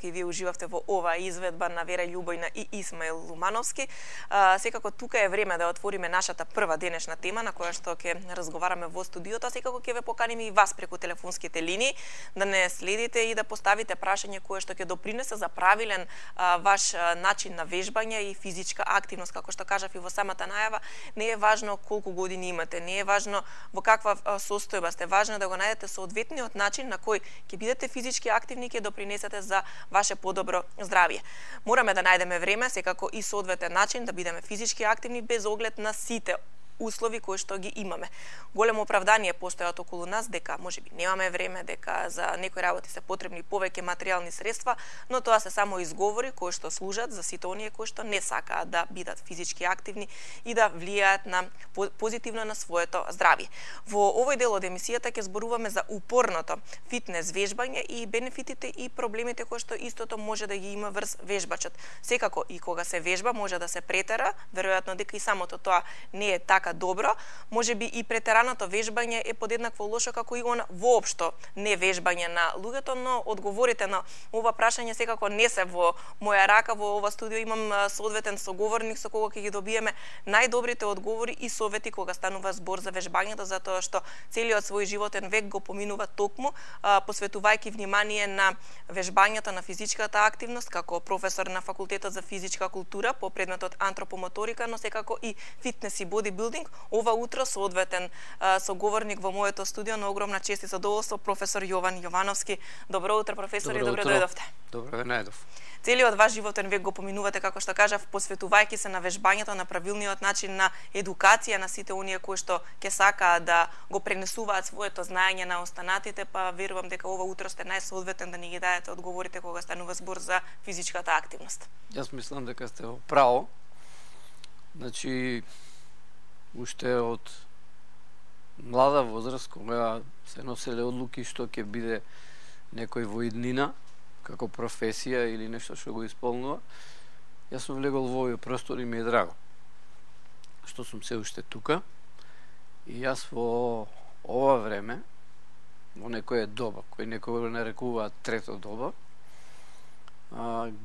дека и вие уживавте во оваа изведба на Вера Љубојна и Исмаил Лумановски. Секако тука е време да отвориме нашата прва денешна тема на која што ќе разговараме во студиото, а секако ќе ве поканиме и вас преку телефонските линии да не следите и да поставите прашање кое што ќе допринесе за правилен ваш начин на вежбање и физичка активност. Како што кажав и во самата најава, не е важно колку години имате, не е важно во каква состојба сте, важно е да го најдете соодветниот начин на кој ќе бидете физички активни и ќе допринесете за ваше подобро здравје. Мораме да најдеме време, секако и соодветен начин да бидеме физички активни без оглед на сите услови кои што ги имаме. Големо оправдание постојат околу нас дека можеби немаме време, дека за некои работи се потребни повеќе материјални средства, но тоа се само изговори кои што служат за сите оние кои што не сакаат да бидат физички активни и да влијаат на позитивно на своето здравје. Во овој дел од емисијата ќе зборуваме за упорното фитнес вежбање и бенефитите и проблемите кои што истото може да ги има врз вежбачот. Секако и кога се вежба може да се претера, веројатно дека и самото тоа не е така добро, можеби и претераното вежбање е подеднакво лошо како и она воопшто не вежбање на луѓето, но одговорите на ова прашање секако не се во моја рака. Во ова студио имам соодветен соговорник со кого ќе ги добиеме најдобрите одговори и совети кога станува збор за вежбањето, затоа што целиот свој животен век го поминува токму посветувајќи внимание на вежбањето, на физичката активност, како професор на факултетот за физичка култура по предметот антропомоторика, но секако и фитнес и бодибилдинг. Ова утро соодветен соговорник во моето студио, на огромна чест и задоволство, професор Јован Јовановски. Добро утро, професор, и добро дојдовте. Добро ве најдов. Целиот ваш животен век го поминувате, како што кажав, посветувајќи се на вежбањето, на правилниот начин на едукација на сите оние кои што ќе сакаат да го пренесуваат своето знаење на останатите, па верувам дека ова утро сте најсоодветен да ни ги дадете одговорите кога станува збор за физичката активност. Јас мислам дека сте во право. Значи, уште од млада возраст, кога се носеле одлуки што ќе биде некој во иднина, како професија или нешто што го исполнува, јас сум влегол во овој простор и ми е драго што сум се уште тука. И јас во ова време, во некоја доба, кој некој го нарекуваат трето доба,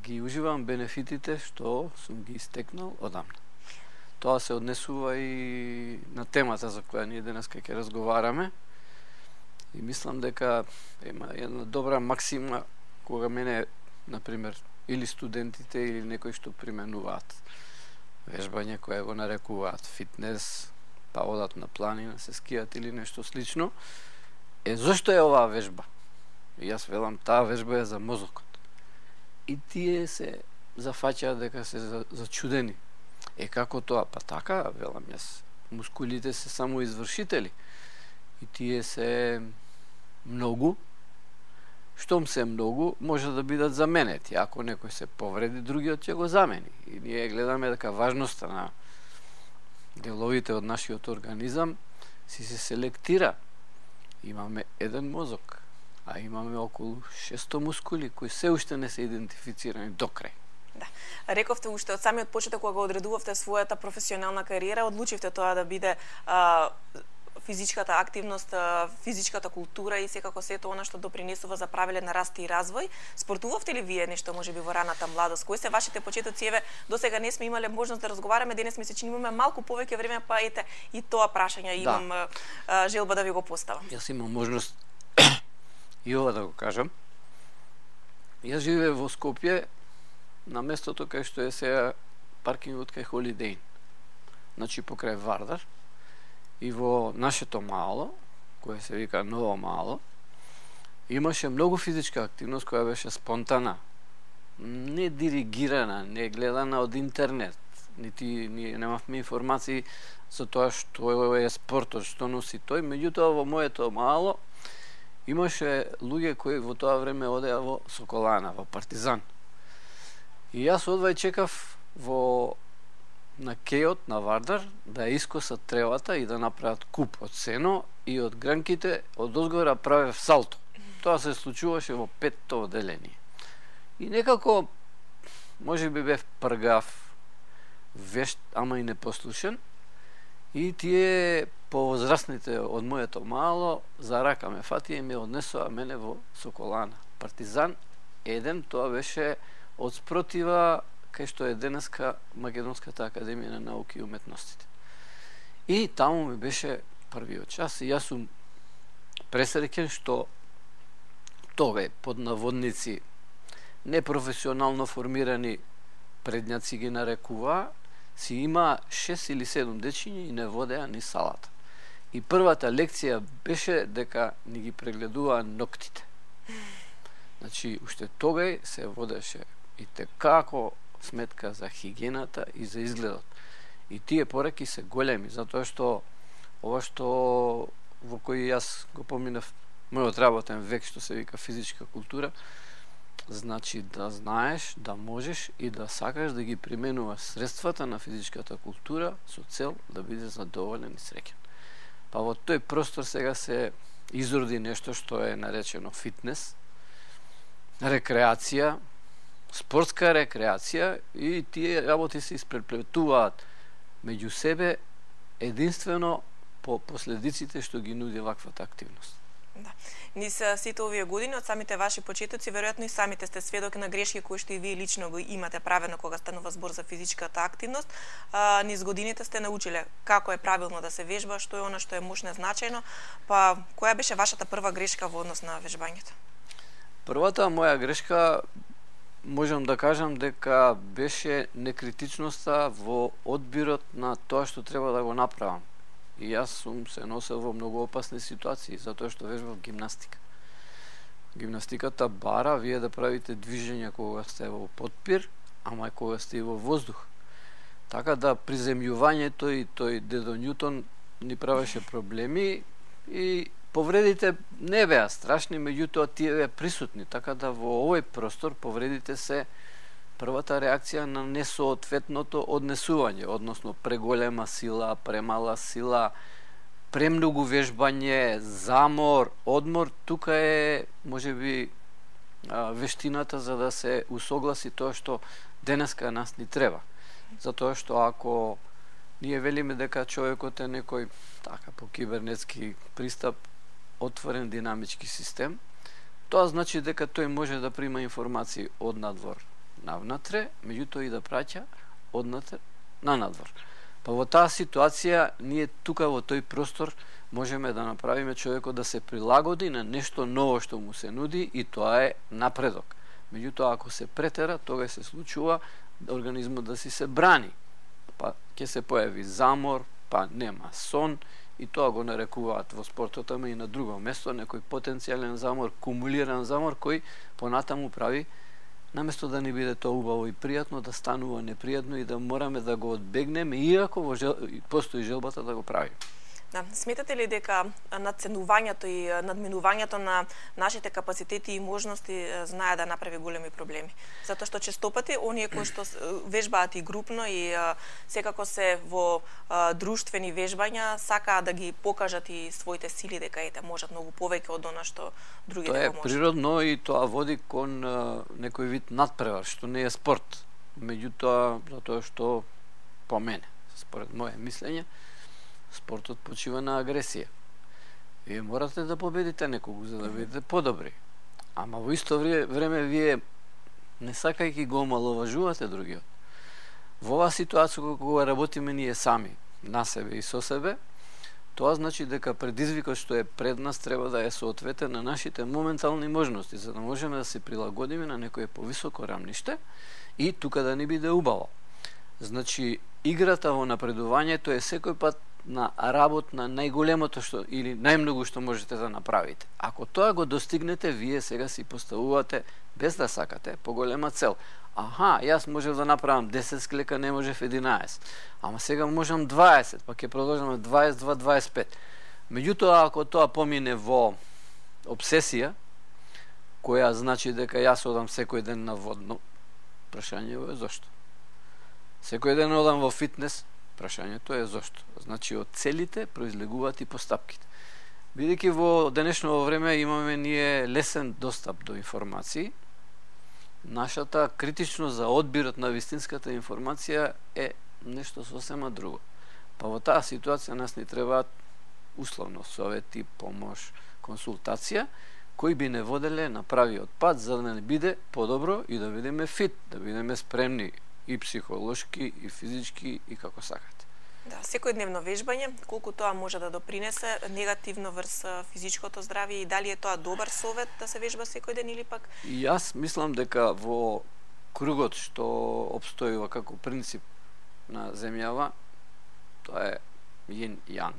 ги уживам бенефитите што сум ги истекнал одамна. Тоа се однесува и на темата за која ние денеска ќе разговараме. И мислам дека има една добра максима кога мене, например, или студентите или некои што применуваат вежбање, која го нарекуваат фитнес, па одат на планина, се скијат или нешто слично, зошто е оваа вежба? И јас велам, таа вежба е за мозокот. И тие се зафаќаат дека се зачудени. Како тоа? Па така, велам јас, мускулите се само извршители и тие се многу. Штом се многу, може да бидат заменети. Ако некој се повреди, другиот ќе го замени. И ние гледаме дека важноста на деловите од нашиот организам се селектира. Имаме еден мозок, а имаме околу 600 мускули кои се уште не се идентифицирани до крај. Да. Рековте уште од самиот почеток кога го одредувавте својата професионална кариера, одлучивте тоа да биде физичката активност, физичката култура и секако сето она што допринесува за правилен раст и развој. Спортувавте ли вие нешто можеби во раната младост? Кои се вашите почетоци? Еве, досега не сме имале можност да разговараме, денес ми се чини имаме малку повеќе време, па ете и тоа прашање имам желба да ви го поставам. Јас имам можност и ова да го кажам. Јас живеев во Скопје, на местото кај што е сега паркингот кај Холидејн, значи покрај Вардар, и во нашето мало, кое се вика Ново Мало, имаше многу физичка активност која беше спонтана, не диригирана, не гледана од интернет, нити ние немавме информации за тоа што е спортот, што носи тој. Меѓутоа во моето мало имаше луѓе кои во тоа време одеа во Соколана, во Партизан. И јас одвај чекав на кејот на Вардар да ја искосат тревата и да направат куп од сено и од гранките од озгора правев салто. Тоа се случуваше во 5-то одделение. И некако може би бев пргав, вешт, ама и непослушен. И тие повозрастните од моето мало за рака ме фатија и ме однесоа мене во Соколана, Партизан еден, тоа беше од спротива кај што е денеска Македонската академија на науки и уметностите. И таму ми беше првиот час и јас сум пресреќен што тога под наводници непрофесионално формирани предњаци ги нарекува, си има 6 или 7 дечиња и не водеа ни салата. И првата лекција беше дека ни ги прегледуваа ноктите. Значи, уште тогај се водеше и текако сметка за хигиената и за изгледот. И тие пораки се големи, затоа што ова што во кој јас го поминав мојот работен век, што се вика физичка култура, значи да знаеш, да можеш и да сакаш да ги применуваш средствата на физичката култура со цел да бидеш задоволен и среќен. Па во тој простор сега се изроди нешто што е наречено фитнес, рекреација, спортска рекреација и тие работи се испреплетуваат меѓу себе единствено по последиците што ги нуди ваквата активност. Да. Низ сите овие години, од самите ваши почетоци, веројатно и самите сте сведоки на грешки кои што и вие лично го имате правено кога станува збор за физичката активност. Низ годините сте научиле како е правилно да се вежба, што е она што е мощно значајно, па која беше вашата прва грешка во однос на вежбањето? Првата моја грешка, можам да кажам дека беше некритичноста во одбирот на тоа што треба да го направам. И јас сум се носел во многу опасни ситуации, затоа што вежбав гимнастика. Гимнастиката бара вие да правите движења кога сте во потпир, ама и кога сте во воздух. Така да приземјувањето и тој дедо Њутон ни правеше проблеми и повредите не беа страшни, меѓутоа тие беа присутни, така да во овој простор повредите се првата реакција на несоодветното однесување, односно преголема сила, премала сила, премногу вежбање, замор, одмор. Тука е можеби вештината за да се усогласи тоа што денеска нас ни треба. Затоа што ако ние велиме дека човекот е некој така по кибернетски пристап отворен динамички систем, тоа значи дека тој може да прима информации од надвор навнатре, меѓутоа и да праќа однатре на надвор. Па во таа ситуација ние тука во тој простор можеме да направиме човекот да се прилагоди на нешто ново што му се нуди и тоа е напредок. Меѓутоа ако се претера, тога се случува организмот да си се брани. Па ќе се појави замор, па нема сон и тоа го нарекуваат во спортот, ама и на друго место некој потенцијален замор, кумулиран замор кој понатаму прави наместо да ни биде тоа убаво и пријатно, да станува непријатно и да мораме да го одбегнеме, иако постои желбата да го правиме. Да, сметате ли дека надценувањето и надминувањето на нашите капацитети и можности знае да направи големи проблеми? Затоа што честопати оние кои што вежбаат и групно и секако се во друштвени вежбања сакаат да ги покажат и своите сили дека ете можат многу повеќе од она што другите го можат. Тоа е природно и тоа води кон некој вид надпревар, што не е спорт. Меѓутоа, затоа што по мене, според моје мислење, спортот почива на агресија. Вие морате да победите некогу за да бидете подобри. Ама во исто време вие не сакајќи го омаловажувате другиот. Во оваа ситуација кога работиме ние сами, на себе и со себе, тоа значи дека предизвикот што е пред нас треба да е соодветен на нашите моментални можности, за да можеме да се прилагодиме на некое повисоко рамниште и тука да ни биде убаво. Значи, играта во напредувањето е секој пат на работ на најголемото што или најмногу што можете да направите. Ако тоа го достигнете, вие сега си поставувате без да сакате поголема цел. Аха, јас можев да направам 10 склека, не можев 11. Ама сега можам 20, па ќе продолжаме 22-25. Меѓутоа, ако тоа помине во обсесија, која значи дека јас одам секој ден на водно, прашањето е зошто? Секој ден одам во фитнес, прашањето е зошто. Значи, од целите произлегуваат и постапките. Бидејќи во денешно време имаме ние лесен достап до информации, нашата критичност за одбирот на вистинската информација е нешто сосема друго. Па во таа ситуација нас ни требаат условно совети, помош, консултација, кои би не воделе на правиот пат за да не биде подобро и да бидеме фит, да бидеме спремни и психолошки, и физички, и како сакате. Да, секојдневно вежбање, колку тоа може да допринесе негативно врз физичкото здравје и дали е тоа добар совет да се вежба секој ден или пак? И јас мислам дека во кругот што обстојува како принцип на земјава, тоа е јин јанг.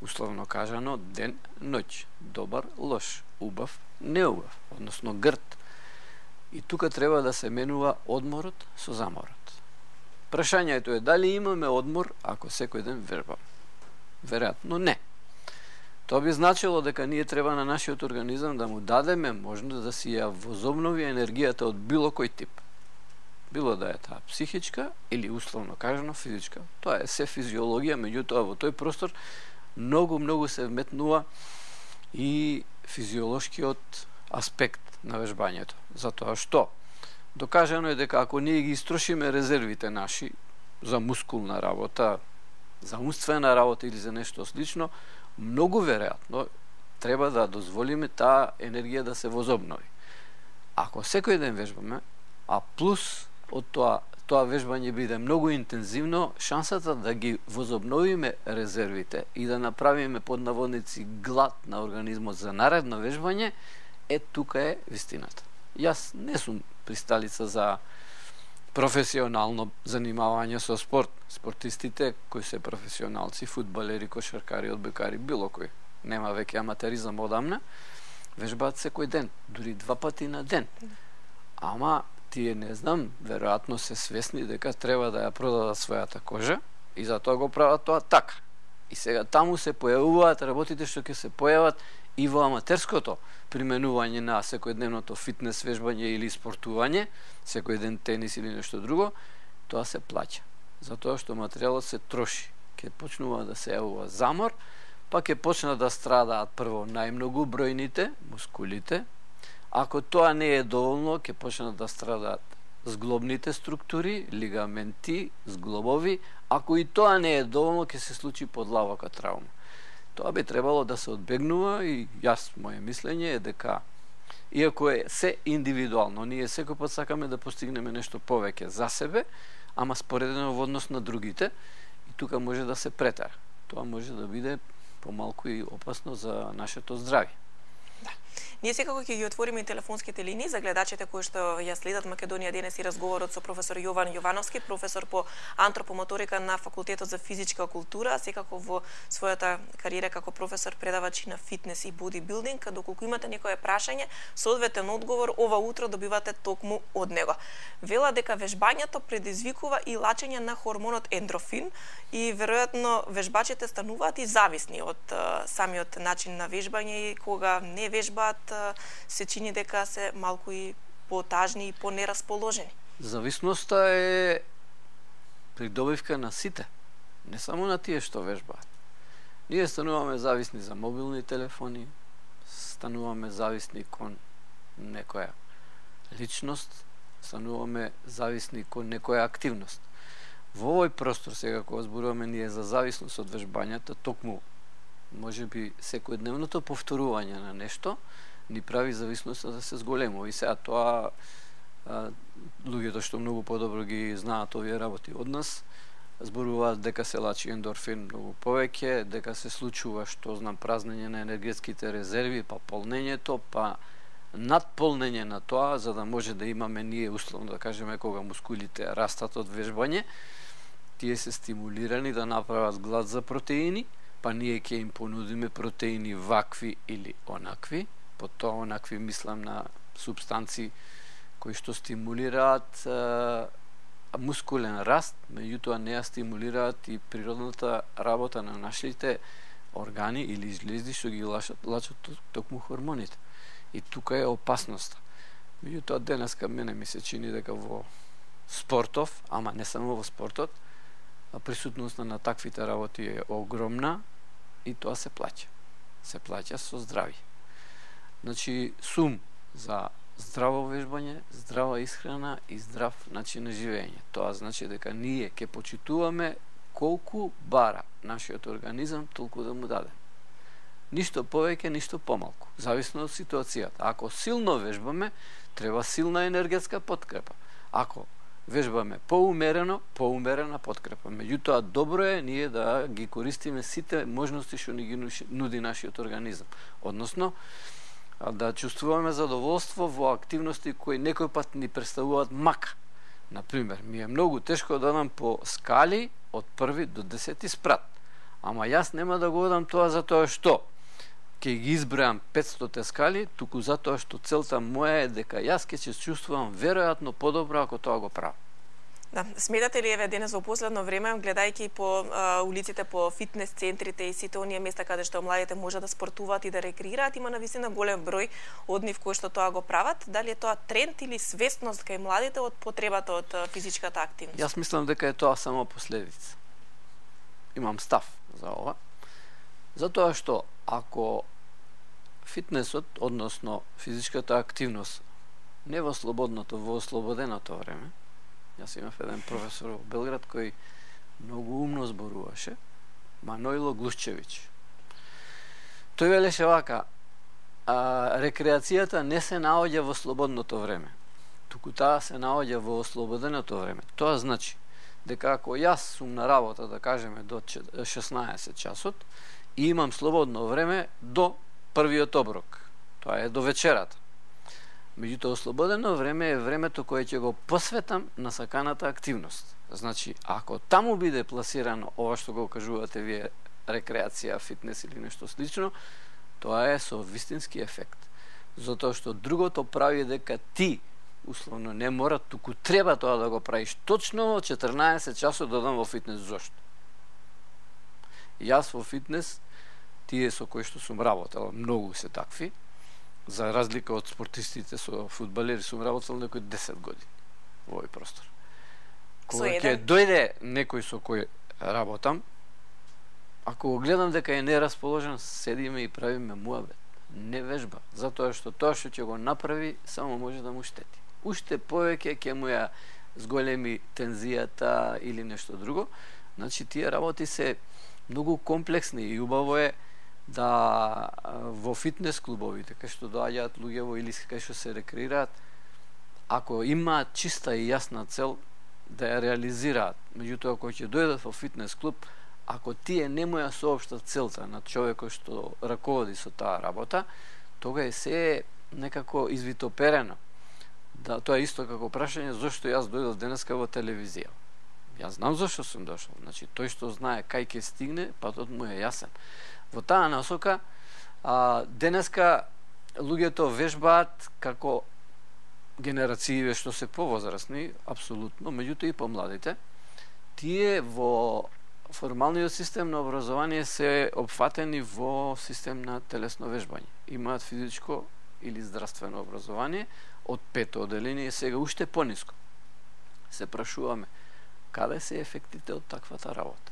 Условно кажано, ден, ноќ, добар, лош, убав, неубав, односно грд. И тука треба да се менува одморот со заморот. Прашањето е дали имаме одмор ако секој ден вежбаме. Веројатно не. Тоа би значило дека ние треба на нашиот организам да му дадеме можност да си ја возобнови енергијата од било кој тип. Било да е таа психичка или условно кажано физичка. Тоа е се физиологија, меѓутоа во тој простор многу се вметнува и физиолошкиот аспект на вежбањето. Затоа што докажано е дека ако ние ги истрошиме резервите наши за мускулна работа, за умствена работа или за нешто слично, многу веројатно треба да дозволиме таа енергија да се возобнови. Ако секој ден вежбаме, а плюс од тоа вежбање биде многу интензивно, шансата да ги возобновиме резервите и да направиме под наводници глад на организмот за наредно вежбање, тука е вистината. Јас не сум присталица за професионално занимавање со спорт. Спортистите кои се професионалци, фудбалери, кошаркари, одбојкари, било кој, нема веќе аматеризам одамна, вежбаат секој ден, дури 2 пати на ден. Ама тие не знам, веројатно се свесни дека треба да ја продадат својата кожа и затоа го прават тоа така. И сега таму се појавуваат работите што ќе се појават и во аматерското применување на секојдневното фитнес вежбање или спортување, секој ден тенис или нешто друго, тоа се плаќа. Затоа што материјалот се троши. Ке почнува да се јавува замор, па ќе почнат да страдаат прво најмногу бројните, мускулите. Ако тоа не е доволно, ќе почнат да страдаат зглобните структури, лигаменти, зглобови. Ако и тоа не е доволно, ќе се случи подлабока травма. Тоа би требало да се одбегнува и моје мислење е дека иако е се индивидуално, ние секој пат сакаме да постигнеме нешто повеќе за себе, ама споредено во однос на другите и тука може да се претера. Тоа може да биде помалку и опасно за нашето здравје. Да. Ние секако ќе ги отвориме и телефонските линии за гледачите кои што ја следат Македонија денес и разговорот со професор Јован Јовановски, професор по антропомоторика на Факултетот за физичка култура, секако во својата кариера како професор предавач на фитнес и бодибилдинг. Доколку имате некое прашање, соодветен одговор ова утро добивате токму од него. Вела дека вежбањето предизвикува и лачење на хормонот ендрофин и веројатно вежбачите стануваат и зависни од самиот начин на вежбање и кога не вежбаат се чини дека се малку и потажни и понерасположени. Зависноста е придобивка на сите, не само на тие што вежбаат. Ние стануваме зависни за мобилни телефони, стануваме зависни кон некоја личност, стануваме зависни кон некоја активност. Во овој простор сега кога зборуваме ние за зависност од вежбањата, токму можеби секојдневното повторување на нешто ни прави зависноста да се зголемува. И сега тоа луѓето што многу подобро ги знаат овие работи од нас зборуваат дека се лачи ендорфин многу повеќе, дека се случува што знам празнење на енергетските резерви, па полнењето, па надполнење на тоа за да може да имаме ние условно да кажеме кога мускулите растат од вежбање, тие се стимулирани да направат глад за протеини, па ние ќе им понудиме протеини вакви или онакви. По тоа онакви мислам на субстанции кои што стимулираат мускулен раст, меѓутоа не ја стимулираат и природната работа на нашите органи или жлезди што ги лачат токму хормоните. И тука е опасноста. Меѓутоа денеска мене ми се чини дека во спортов, ама не само во спортот, присутноста на таквите работи е огромна и тоа се плаќа. Се плаќа со здравје. Значи, сум за здраво вежбање, здрава исхрана и здрав начин на живење. Тоа значи дека ние ќе почитуваме колку бара нашиот организам, толку да му даде. Ништо повеќе, ништо помалку, зависно од ситуацијата. Ако силно вежбаме, треба силна енергетска подкрепа. Ако вежбаме поумерена подкрепа. Меѓутоа, добро е ние да ги користиме сите можности што ни ги нуди нашиот организам. Односно, да чувствуваме задоволство во активности кои некој пат ни представуваат мака. Например, ми е многу тешко да одам по скали од 1 до 10 спрат. Ама јас нема да го одам тоа затоа што ќе ги избројам 500 скали, туку затоа што целта моја е дека јас ќе се чувствувам веројатно подобро ако тоа го правам. Да, сметате ли еве денес во последно време, гледајќи по улиците, по фитнес центрите и сите оние места каде што младите можат да спортуваат и да рекреираат, има навистина голем број од нив кои што тоа го прават? Дали е тоа тренд или свесност кај младите од потребата од физичката активност? Јас мислам дека е тоа само последица. Имам став за ова. Затоа што ако фитнесот, односно физичката активност, не во слободното, во ослободеното време, јас имав еден професор во Белград кој многу умно зборуваше, Маноило Глушчевич. Тој велеше вака, рекреацијата не се наоѓа во слободното време, туку таа се наоѓа во ослободеното време. Тоа значи дека ако јас сум на работа, да кажеме, до 16 часот, и имам слободно време до првиот оброк, тоа е до вечерата. Меѓутоа, ослободено време е времето кое ќе го посветам на саканата активност. Значи, ако таму биде пласирано ова што го кажувате вие, рекреација, фитнес или нешто слично, тоа е со вистински ефект. Затоа што другото прави дека ти, условно, не мора, туку треба тоа да го правиш точно во 14 часот да одам во фитнес. Зошто? Јас во фитнес, тие со кои што сум работел, многу се такви, за разлика од спортистите со фудбалери, сум работел некој 10 години во овој простор. Кога ќе дојде некој со кој работам, ако го гледам дека е нерасположен, седиме и правиме муабет. Не вежба, затоа што тоа што ќе го направи само може да му штети. Уште повеќе ќе му ја зголеми тензијата или нешто друго. Значи, тие работи се многу комплексни и убаво е да во фитнес клубовите, кај што доаѓаат луѓе во или кај што се рекреираат, ако имаат чиста и јасна цел да ја реализираат, меѓутоа кога ќе дојдат во фитнес клуб, ако тие не му ја соопштат целта на човекот што раководи со таа работа, тога е се некако извитоперено. Да, тоа е исто како прашање зошто јас дојдов денеска во телевизија. Јас знам зашто сум дошол. Значи, тој што знае кај ќе стигне, патот му е јасен. Во таа насока, денеска луѓето вежбаат како генерациите што се повозрасни, апсолутно, меѓутоа и помладите, тие во формалниот систем на образование се опфатени во систем на телесно вежбање. Имаат физичко или здравствено образование од 5-то оделение, сега уште пониско. Се прашуваме, каде се ефектите од таквата работа?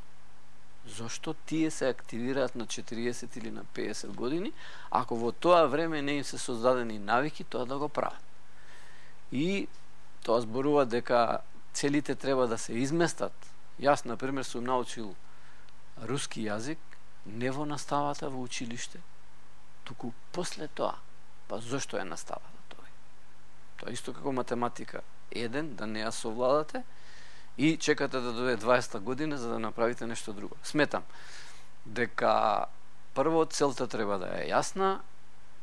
Зошто тие се активираат на 40 или на 50 години, ако во тоа време не им се создадени навики тоа да го прават? И тоа зборува дека целите треба да се изместат. Јас, например, сум научил руски јазик не во наставата во училиште, туку после тоа. Па зошто е наставата тоа? Тоа исто како математика. Еден, да не ја совладате, и чекате да дојде 20-та година за да направите нешто друго. Сметам дека прво целта треба да е јасна,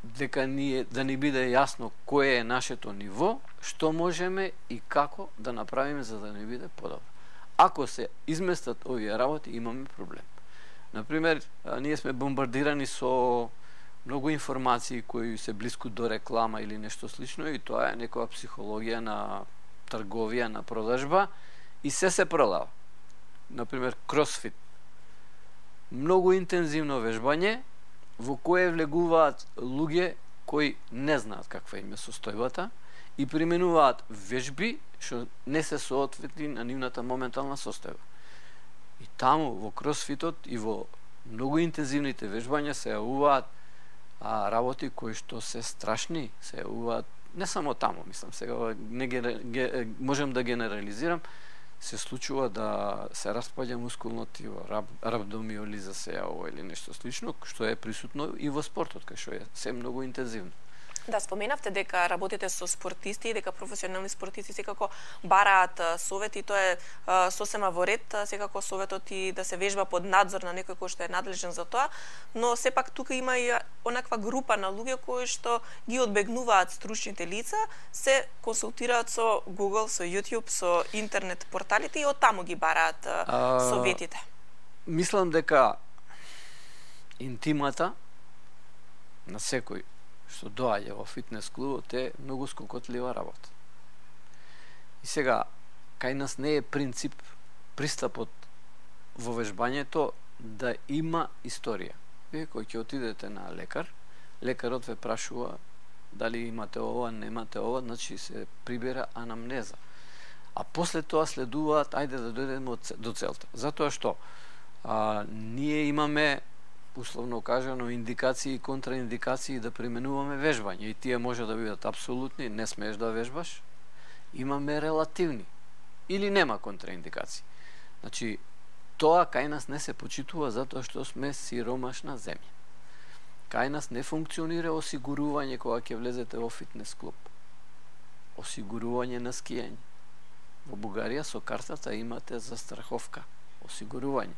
дека да ни биде јасно кое е нашето ниво, што можеме и како да направиме за да ни биде подобро. Ако се изместат овие работи, имаме проблем. Например, ние сме бомбардирани со многу информации кои се блиску до реклама или нешто слично, и тоа е некоја психологија на трговија, на продажба, и се продава. Например, кросфит. Многу интензивно вежбање, во кое влегуваат луѓе кои не знаат каква им е состојбата и применуваат вежби што не се соодветни на нивната моментална состојба. И таму, во кросфитот и во многу интензивните вежбања се јавуваат работи кои што се страшни, се јавуваат не само таму, мислам, сега можем да генерализирам, се случува да се распаѓа мускулно тиво, рhabdomиолиза се јавува или нешто слично, што е присутно и во спортот, кај што е се многу интензивно. Да, споменавте дека работите со спортисти и дека професионални спортисти секако бараат совети, тоа е сосема во ред, секако советот и да се вежба под надзор на некој кој што е надлежен за тоа, но сепак тука има и онаква група на луѓе кои што ги одбегнуваат стручните лица, се консултираат со Google, со YouTube, со интернет порталите и од таму ги бараат советите. Мислам дека интимата на секој што доаѓа во фитнес клубот е многу скокотлива работа. И сега, кај нас не е принцип пристапот во вежбањето да има историја. Вие кој ќе отидете на лекар, лекарот ве прашува дали имате ова, немате ова, значи се прибира анамнеза. А после тоа следуваат, ајде да дојдеме до целта. Затоа што ние имаме условно кажано индикации и контраиндикации да применуваме вежбање и тие може да бидат апсолутни, не смееш да вежбаш, имаме релативни или нема контраиндикации. Значи, тоа кај нас не се почитува затоа што сме сиромашна земја. Кај нас не функционира осигурување кога ќе влезете во фитнес клуб. Осигурување на скијање. Во Бугарија со картата имате застраховка, осигурување.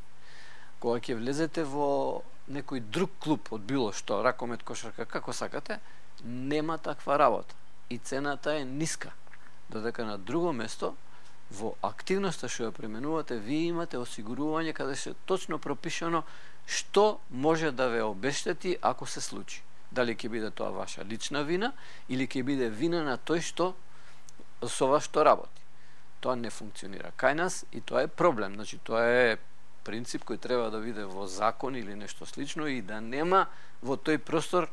Кога ќе влезете во некој друг клуб од било што, ракомет, кошарка, како сакате, нема таква работа. И цената е ниска. Додека на друго место, во активноста што ја применувате, вие имате осигурување каде се точно пропишано што може да ве обештети ако се случи. Дали ќе биде тоа ваша лична вина или ќе биде вина на тој што со вас што работи. Тоа не функционира кај нас и тоа е проблем. Значи, тоа е принцип кој треба да биде во закон или нешто слично и да нема во тој простор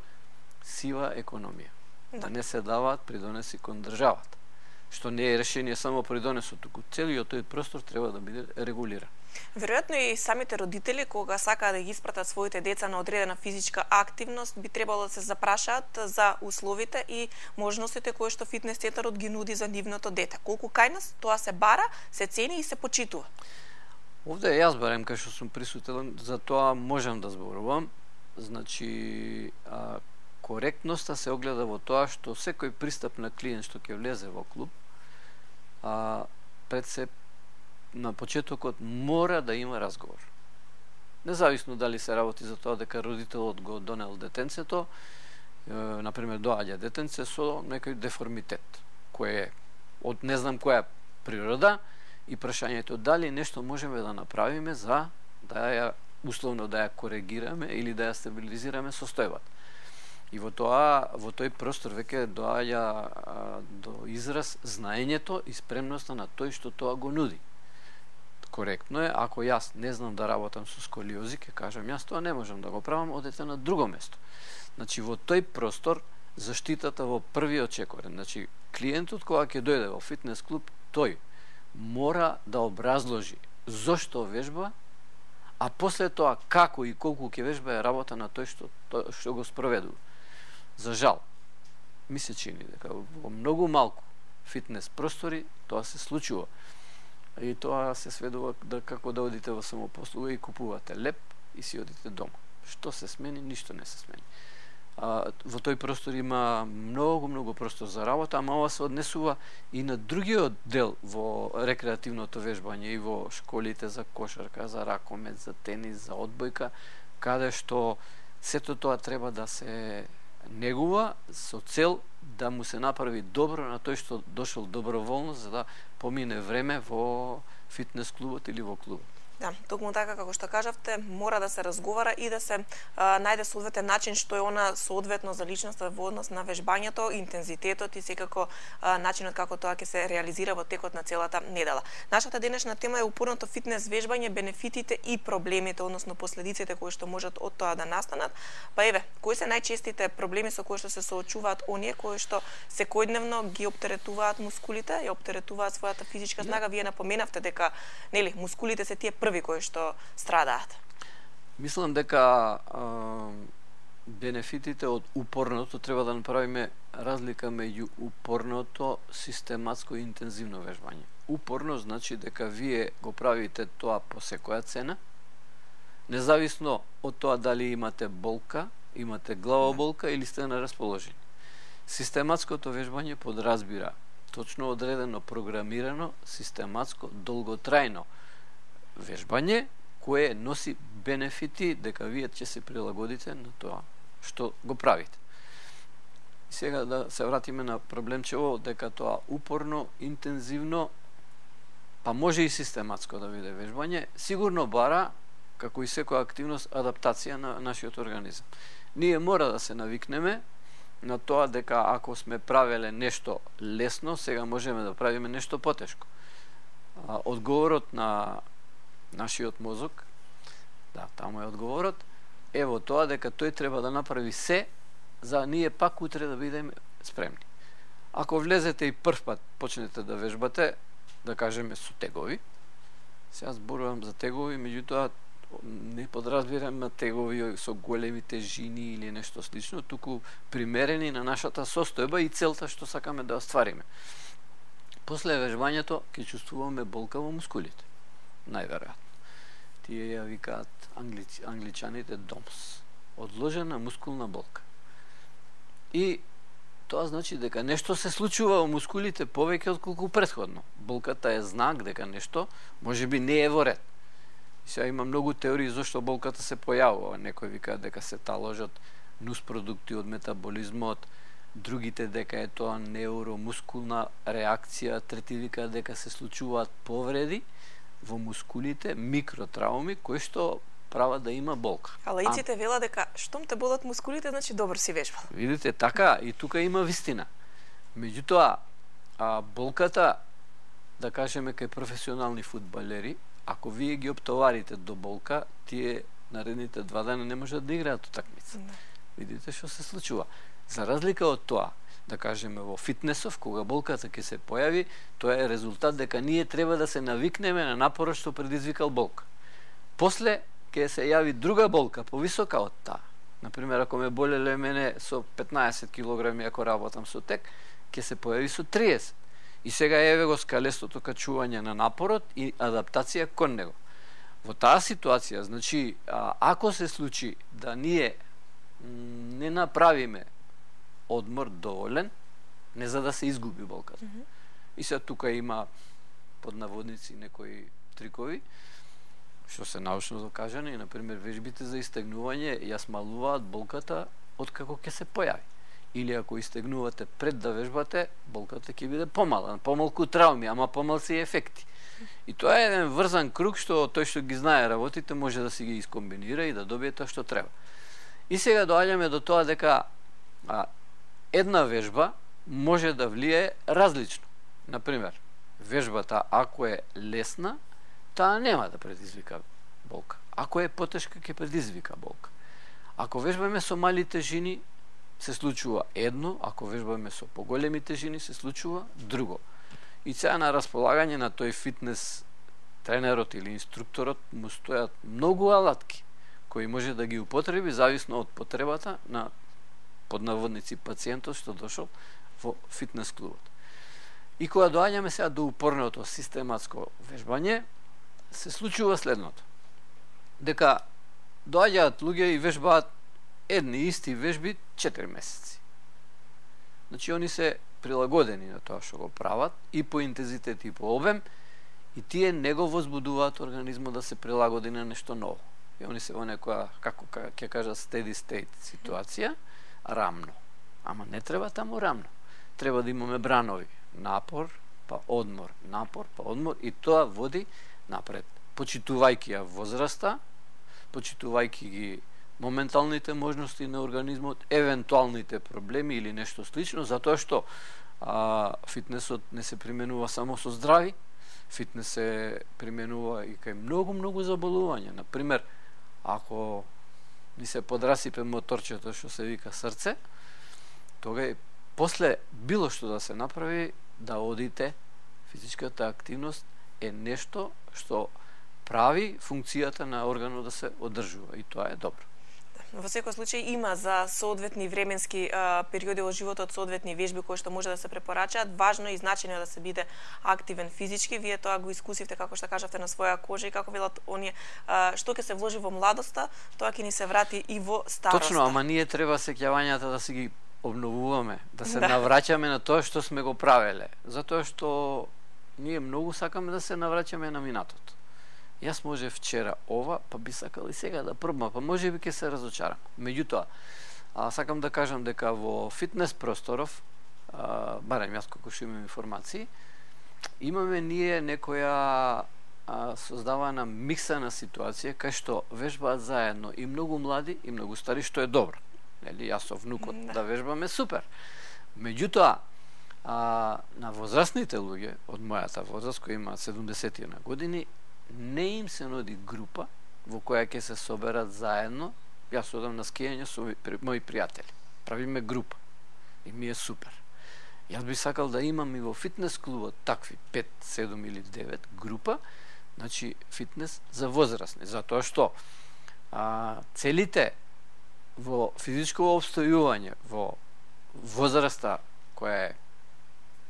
сива економија. Да не се даваат придонеси кон државата. Што не е решение само придонесот, туку целиот тој простор треба да биде регулиран. Веројатно и самите родители кога сакаат да ги испратат своите деца на одредена физичка активност би требало да се запрашаат за условите и можностите кои што фитнес центарот ги нуди за нивното дете. Колку кај нас тоа се бара, се цени и се почитува. Овде јас барем кај што сум присутен, за тоа можам да зборувам. Значи, коректноста се огледа во тоа што секој пристап на клиент што ќе влезе во клуб, пред се на почетокот мора да има разговор. Независно дали се работи за тоа дека родителот го донел детенцето, например доаѓа детенце со некој деформитет, кој е од не знам која природа, и прашањето дали нешто можеме да направиме за да ја условно да ја коригираме или да ја стабилизираме состојбата. И во тој простор веќе доаѓа до израз знаењето и спремноста на тој што тоа го нуди. Коректно е, ако јас не знам да работам со сколиози, ќе кажам јас тоа не можам да го правам, одете на друго место. Значи во тој простор заштитата во првиот чекорен. Значи клиентот кога ќе дојде во фитнес клуб, тој мора да образложи зошто вежба, а после тоа како и колку ќе вежба е работа на тој што го спроведува. За жал, ми се чини дека во многу малку фитнес простори тоа се случува. И тоа се сведува да како да одите во самопослуга и купувате леп и си одите дома. Што се смени? Ништо не се смени. Во тој простор има многу простор за работа, ама ова се однесува и на другиот дел во рекреативното вежбање и во школите за кошарка, за ракомет, за тенис, за одбојка, каде што сето тоа треба да се негува со цел да му се направи добро на тој што дошол доброволно за да помине време во фитнес клубот или во клубот. Да, токму така како што кажавте, мора да се разговара и да се најде соодветен начин што е она соодветно за личноста во однос на вежбањето, интензитетот и секако начинот како тоа ќе се реализира во текот на целата недела. Нашата денешна тема е упорното фитнес вежбање, бенефитите и проблемите, односно последиците кои што можат од тоа да настанат. Па еве, кои се најчестите проблеми со кои што се соочуваат оние кои што секојдневно ги оптеретуваат мускулите, ја оптеретуваат својата физичка снага? Вие напоменавте дека нели мускулите се тие први кои што страдаат. Мислам дека бенефитите од упорното треба да направиме разлика меѓу упорното, систематско и интензивно вежбање. Упорно значи дека вие го правите тоа по секоја цена, независно од тоа дали имате болка, имате главоболка или сте на расположение. Систематското вежбање подразбира точно одредено, програмирано, систематско, долготрајно вежбање кое носи бенефити дека вие ќе се прилагодите на тоа што го правите. И сега да се вратиме на проблемчево дека тоа упорно, интензивно, па може и систематско да биде вежбање, сигурно бара, како и секоја активност, адаптација на нашиот организам. Ние мора да се навикнеме на тоа дека ако сме правеле нешто лесно, сега можеме да правиме нешто потешко. Одговорот на нашиот мозок, да, таму е одговорот, ево тоа дека тој треба да направи се за ние пак утре да бидеме спремни. Ако влезете и прв пат почнете да вежбате, да кажеме со тегови, сега зборувам за тегови, меѓутоа не подразбирам на тегови со големи тежини или нешто слично, туку примерени на нашата состојба и целта што сакаме да оствариме. После вежбањето ќе чувствуваме болка во мускулите, најверојатно. Тие ја викаат англичаните DOMS, одложена мускулна болка. И тоа значи дека нешто се случува во мускулите повеќе отколку претходно. Болката е знак дека нешто можеби не е во ред. Сега има многу теории зашто болката се појавува. Некои викаат дека се таложат нуспродукти од метаболизмот, другите дека е тоа неуромускулна реакција, трети викаат дека се случуваат повреди во мускулите, микротрауми кои што прават да има болка. А лаиците велат дека штом те болат мускулите, значи добро си вежбал. Видите, така и тука има вистина. Меѓутоа, болката, да кажеме кај професионални фудбалери, ако вие ги оптоварите до болка, тие наредните 2 дена не можат да играат утакмица. Видите што се случува. За разлика од тоа, да кажеме во фитнесов, кога болката ќе се појави, тоа е резултат дека ние треба да се навикнеме на напорот што предизвикал болка. После ќе се јави друга болка, повисока од таа. Например, ако ме болеле мене со 15 килограми, ако работам со тек, ќе се појави со 30. И сега еве го скалестото качување на напорот и адаптација кон него. Во таа ситуација, значи, ако се случи да ние не направиме одмор доволен, не за да се изгуби болката. И сега тука има под наводници некои трикови, што се научно докажани, например, вежбите за истегнување ја смалуваат болката откако ќе се појави. Или ако истегнувате пред да вежбате, болката ќе биде помала, помалку трауми, ама помалци ефекти. И тоа е еден врзан круг што тој што ги знае работите може да си ги искомбинира и да добие тоа што треба. И сега доаѓаме до тоа дека една вежба може да влие различно. Например, вежбата ако е лесна, таа нема да предизвика болка. Ако е потешка, ќе предизвика болка. Ако вежбаме со мали тежини, се случува едно, ако вежбаме со поголеми тежини, се случува друго. И сега на располагање на тој фитнес тренерот или инструкторот му стојат многу алатки, кои може да ги употреби зависно од потребата на под наводници пациентот што дошол во фитнес клубот. И кога доаѓаме сега до упорното систематско вежбање, се случува следното. Дека доаѓаат луѓе и вежбаат едни исти вежби 4 месеци. Значи, они се прилагодени на тоа што го прават и по интензитет и по обем и тие не го возбудуваат организмот да се прилагоди на нешто ново. И они се во некоја, како ќе кажа, steady state ситуација, рамно. Ама не треба таму рамно. Треба да имаме бранови. Напор, па одмор. Напор, па одмор. И тоа води напред. Почитувајќи ја возраста, почитувајќи ги моменталните можности на организмот, евентуалните проблеми или нешто слично, затоа што фитнесот не се применува само со здрави, фитнес се применува и кај многу заболувања. Например, ако ни се подрасипе моторчето што се вика срце, тога после било што да се направи, да одите, физичката активност е нешто што прави функцијата на органот да се одржува и тоа е добро. во секој случај има за соодветни временски периоди во животот соодветни вежби кои што може да се препорачаат. Важно и значајно е да се биде активен физички. Вие тоа го искусивте, како што кажавте, на своја кожа и како велат оние, што ќе се вложи во младоста, тоа ќе ни се врати и во староста. Точно, ама ние треба сеќавањата да си ги обновуваме, да се навраќаме на тоа што сме го правеле, затоа што ние многу сакаме да се навраќаме на минатото. Јас може вчера ова, па би сакал и сега да пробам, па може би ќе се разочарам. Меѓутоа, сакам да кажам дека во фитнес просторов, барем јас колку што имам информации, имаме ние некоја создавана миксана ситуација кај што вежбаат заедно и многу млади и многу стари, што е добро. Нели, јас со внукот да вежбаме, супер. Меѓутоа, на возрастните луѓе од мојата возраст, кои имаат 70 на години, не им се нуди група во која ќе се соберат заедно. Јас одам на скијање со мои пријатели. Правиме група. И ми е супер. Јас би сакал да имам и во фитнес клубот такви 5, 7 или 9 група, значи фитнес за возрастни, затоа што целите во физичко обстојување во возраста која е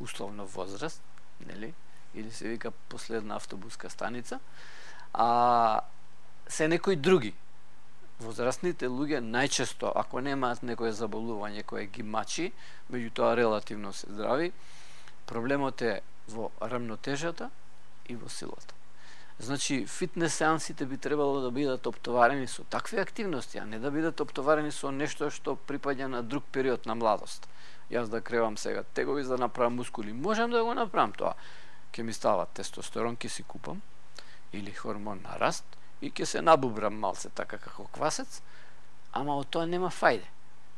условно возраст, нели, или се вика последна автобуска станица, се некои други. Возрастните луѓе најчесто, ако немаат некое заболување кое ги мачи, меѓутоа релативно се здрави, проблемот е во рамнотежата и во силата. Значи, фитнес сеансите би требало да бидат оптоварени со такви активности, а не да бидат оптоварени со нешто што припаѓа на друг период на младост. Јас да кревам сега тегови за да направам мускули, можам да го направам тоа. Ке ми става тестостерон, ке си купам, или хормон на раст, и ке се набубрам малце така како квасец, ама од тоа нема фајде.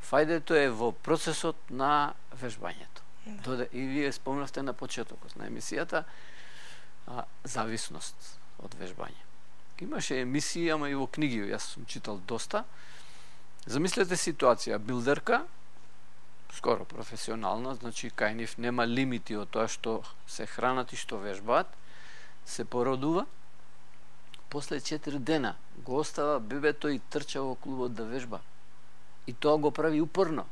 Фајдето е во процесот на вежбањето. И вие спомнавте на почетокот на емисијата зависност од вежбање. Имаше емисии, ама и во книги, јас сум читал доста. Замислете ситуација, билдерка, скоро професионална, значи кај нив нема лимити од тоа што се хранат и што вежбаат, се породува, после 4 дена го остава бебето и трча во клубот да вежба. И тоа го прави упорно.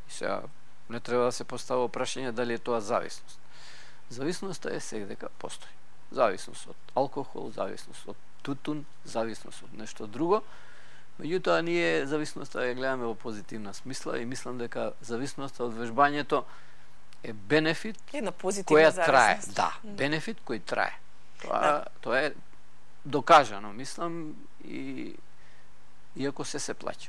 И сега не треба да се поставува прашање дали е тоа зависност. Зависноста е секдека постои. Зависност од алкохол, зависност од тутун, зависност од нешто друго. Меѓутоа, ние зависноста ја гледаме во позитивна смисла и мислам дека зависноста од вежбањето е бенефит која трае. Да, бенефит кој трае. Тоа е докажано, мислам, и иако се плаќа.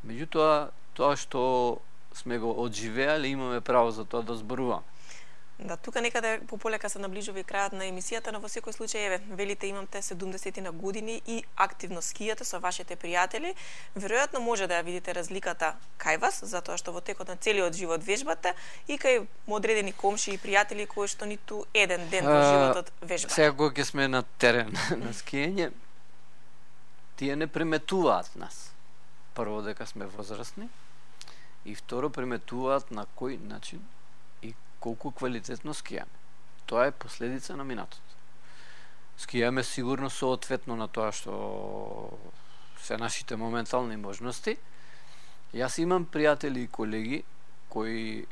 Меѓутоа, тоа што сме го одживеале, имаме право за тоа да зборуваме. Да, тука некаде пополека се наближува и крајот на емисијата, но во секој случај, велите имамте 70 на години и активно скијате со вашите пријатели. Веројатно може да ја видите разликата кај вас, затоа што во текот на целиот живот вежбате, и кај одредени комши и пријатели кои што ниту еден ден во животот вежбате. Сега кога ќе сме на терен на скијање, тие не приметуваат нас. Прво дека сме возрастни, и второ приметуваат на кој начин и колку квалитетно скијаме. Тоа е последица на минатото. Скијаме сигурно соодветно на тоа што се нашите моментални можности. Јас имам пријатели и колеги кои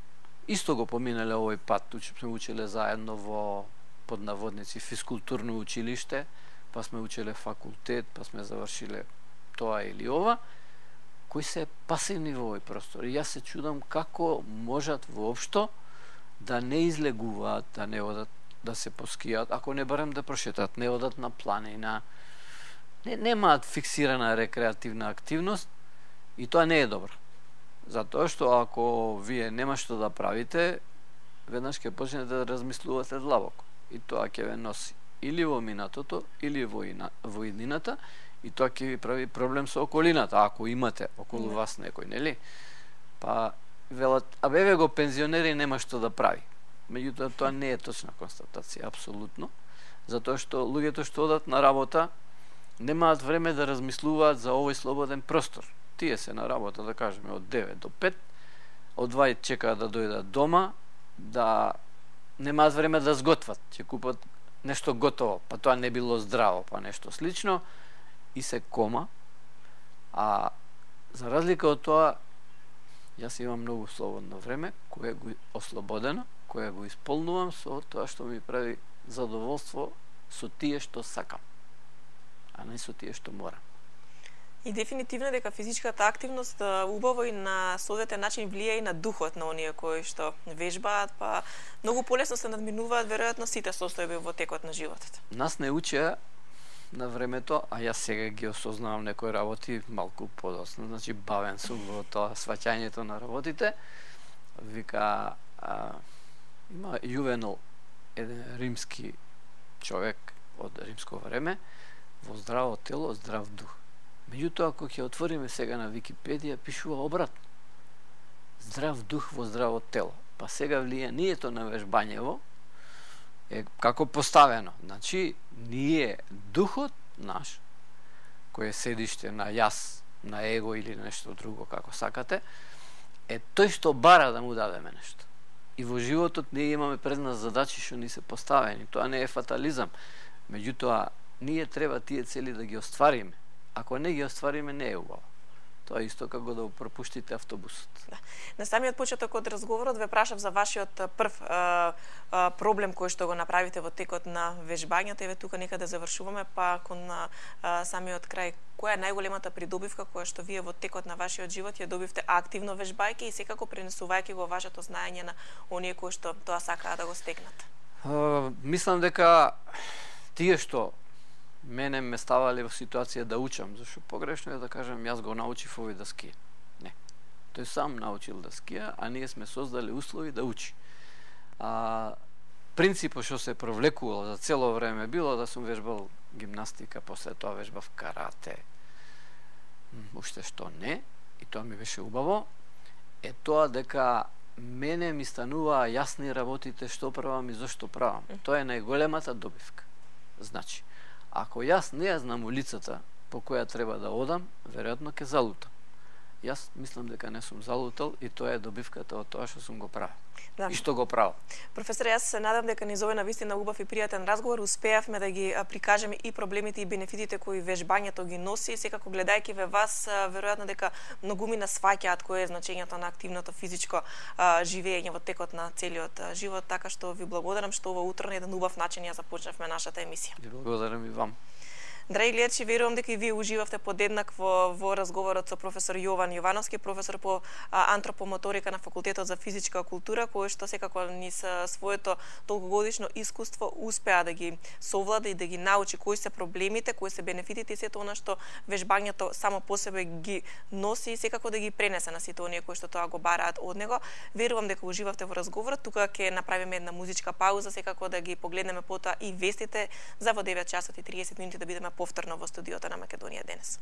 исто го поминале овој пат, сме учеле заедно во поднаводници физкултурно училиште, па сме учеле факултет, па сме завршиле тоа или ова, кои се пасивни во овој простор. И јас се чудам како можат воопшто да не излегуваат, да не одат да се поскијат, ако не барем да прошетат, не одат на планина, немаат фиксирана рекреативна активност, и тоа не е добро. Затоа што ако вие нема што да правите, веднаш ќе почнете да размислувате длабоко. И тоа ќе ве носи или во минатото, или во иднината, и тоа ќе ви прави проблем со околината, ако имате околу вас некој, нели? Па велат, абе го пензионери нема што да прави. Меѓутоа, тоа не е точна констатација, апсолутно, затоа што луѓето што одат на работа немаат време да размислуваат за овој слободен простор. Тие се на работа, да кажеме, од 9 до 5, од 2 чекаат да дојдат дома, да немаат време да сготват, ќе купат нешто готово, па тоа не било здраво, па нешто слично, и се кома, а За разлика од тоа, јас имам многу слободно време, кое го ослободено, кое го исполнувам со тоа што ми прави задоволство со тие што сакам, а не со тие што морам. И дефинитивно дека физичката активност убаво и на соодветен начин влијае и на духот на оние кои што вежбаат, па многу полесно се надминуваат веројатно сите состојби во текот на животот. Нас не учеа на времето, а јас сега ги осознавам некои работи малку подоцна, значи бавен сум во тоа сваќањето на работите. Вика, има Јувенал, еден римски човек од римско време, во здраво тело, здрав дух. Меѓутоа, ако ќе отвориме сега на Википедија, пишува обратно. Здрав дух во здраво тело. Па сега влијанието на вежбањево е како поставено. Значи, ние, духот наш, кој е седиште на јас, на его или нешто друго, како сакате, е тој што бара да му дадеме нешто. И во животот ние имаме пред нас задачи што ни се поставени. Тоа не е фатализам. Меѓутоа, ние треба тие цели да ги оствариме. Ако не ги оствариме, не е убаво. Тоа е исто како да пропуштите автобусот. Да. На самиот почеток од разговорот ве прашав за вашиот прв проблем кој што го направите во текот на вежбањето. Еве тука некаде завршуваме, па кон самиот крај, која е најголемата придобивка која што вие во текот на вашиот живот ја добивте активно вежбајќи и секако пренесувајќи го вашето знаење на оние кои што тоа сакаат да го стекнат? Мислам дека тие што мене ме ставале во ситуација да учам, зашто погрешно е да кажам јас го научив овој да скија. Не. Тој сам научил да скија, а ние сме создали услови да учи. Принципот што се провлекувал за цело време било да сум вежбал гимнастика, после тоа вежбав карате. Уште што не, и тоа ми беше убаво, е тоа дека мене ми стануваа јасни работите што правам и зошто правам. Тоа е најголемата добивка. Значи, ако јас не ја знам улицата по која треба да одам, веројатно ќе залутам. Јас мислам дека не сум залутал и тоа е добивката од тоа што сум го правил. Да. И што го правил. Професор, јас се надам дека низ овој навистина убав и пријатен разговор успеавме да ги прикажеме и проблемите и бенефитите кои вежбањето ги носи. Секако гледајќи ве вас, веројатно дека многумина сваќаат кое е значењето на активното физичко живење во текот на целиот живот, така што ви благодарам што ова утро на еден убав начин ја започнавме нашата емисија. Ви благодарам и вам. Драги гледачи, верувам дека и вие уживавте подеднакво во разговорот со професор Јован Јовановски, професор по антропомоторика на Факултетот за физичка култура, кој што секако низ своето толкогодишно искуство успеа да ги совлада и да ги научи кои се проблемите, кои се бенефитите и сето она што вежбањето само по себе ги носи и секако да ги пренесе на сите оние кои што тоа го бараат од него. Верувам дека уживавте во разговорот. Тука ќе направиме една музичка пауза, секако да ги погледнеме потоа и вестите за во 9 часот и 30 минути да бидеме повторно во студиото на Македонија денес.